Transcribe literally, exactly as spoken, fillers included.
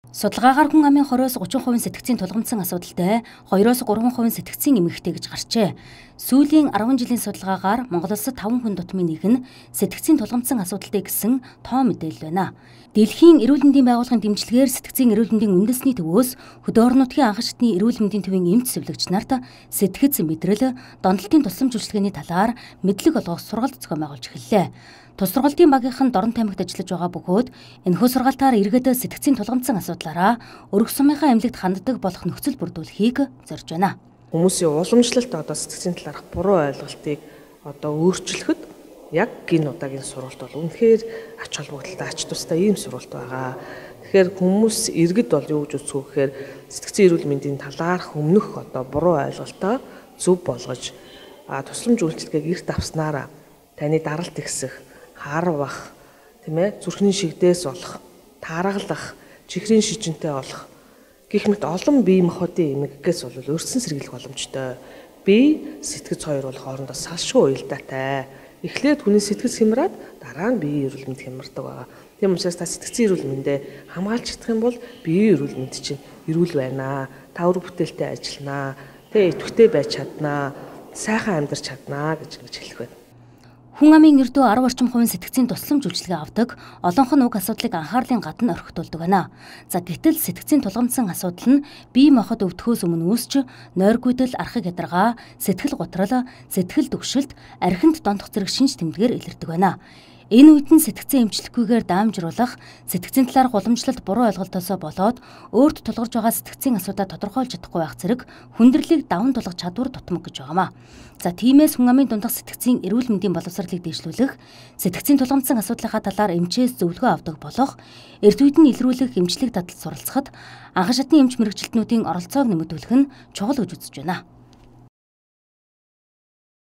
Судалгаагаар хүн амын хорioос гучин хувийн сэтгцийн тулгамдсан асуудалтай хоёроос гурван хувийн сэтгцийн эмэгтэй гэж гарчээ. Сүүлийн арван жилийн судалгаагаар Монгол улсад таван хүн дутмын нэг нь сэтгцийн тулгамдсан асуудалтай гэсэн тоо мэдээлэл байна. Дэлхийн эрүүл мэндийн байгууллагын дэмжлэгээр сэтгцийн эрүүл мэндийн үндэсний төвөөс хөдөө орон нутгийн анхан шатны эрүүл мэндийн төвийн эмч сэвлэгч нарт сэтгц мэдрэл, донтолтын тусламж үйлчилгээний талаар мэдлэг олгох сургалт зохион байгуулж эхэллээ. Тус сургалтын багийнхан Дорн таймагт ажиллаж байгаа бөгөөд энэхүү сургалтаар иргэд сэтгцийн тулгамдсан асуудлаараа өргөх сумынхаа эмнэлэгт ханддаг болох нөхцөл бүрдүүлэхийг зорж байна. Хүмүүсийн уламжлалт одоо сэтгцийн талаарх буруу ойлголтыг одоо өөрчлөхөд яг энэ удаагийн сургалт бол үнэхээр ач холбогдолтой, ач тустай ийм сургалт байгаа. Тэгэхээр хүмүүс иргэд бол юу гэж үзэх вэ гэхээр сэтгцийн эрүүл мэндийн талаарх өмнөх одоо буруу ойлголтоо зөв болгож тусламж үйлчилгээг эрт авснараа таны даралт ихсэх, харвах, тийм ээ, зүрхний шигдээс болох, тааргалах, чихрийн шижинтэй болох гэх мэт олон бие махбодын эмгэгээс бол өрсөн сэргийлэх боломжтой. Бие сэтгэц хоёр бол хоорондоо салшгүй уялдаатай. Эхлээд хүний сэтгэц хямраад дараа нь биеийн эрүүл мэнд хямардаг байгаа. Тийм учраас та сэтгцийн эрүүл мэндээ хамгаалж чадах юм бол биеийн эрүүл мэнд чинь эрүүл байна. Та өр бүтээлтэй ажилланаа, тэ идэвхтэй байж чаднаа, сайхан амьдарч чаднаа гэж ингэж хэлэх байна. Хүн амын эрдөө арав орчим хувийн сэтгцийн тусламж үйлчилгээ авдаг, олонх нь уг асуудлыг анхаарлын гадна орхитуулдаг байна. За гэтэл сэтгцийн тулгамдсан асуудал нь бие махбод өвдөхөөс өмнө үүсч нойргүйдэл, архаг ядаргаа, сэтгэл гутрал, сэтгэл түгшилт, архинд донтох зэрэг шинж тэмдгээр илэрдэг байна. Энэ үед нь сэтгцэн эмчлэхгүйгээр даамжруулах, сэтгцийн талаарх уламжлалт буруу ойлголтоосоо болоод өөрт тулгарч байгаа сэтгцийн асуудаа тодорхойлж чадахгүй байх зэрэг хүндрэлийг даван тулгах чадвар дутмаг гэж байгаамаа. За тиймээс хүн амын дундах сэтгцийн эрүүл мэндийн боловсролыг дэвшлүүлэх, сэтгцийн тулгамдсан асуудлынхаа талаар эмчээс зөвлөгөө авдаг болох, эрт үед нь илрүүлэх эмчлэг дадал суралцахад анхан шатны эмч мэргэжилтнүүдийн оролцоог нэмэгдүүлэх нь чухал гэж үзэж байна.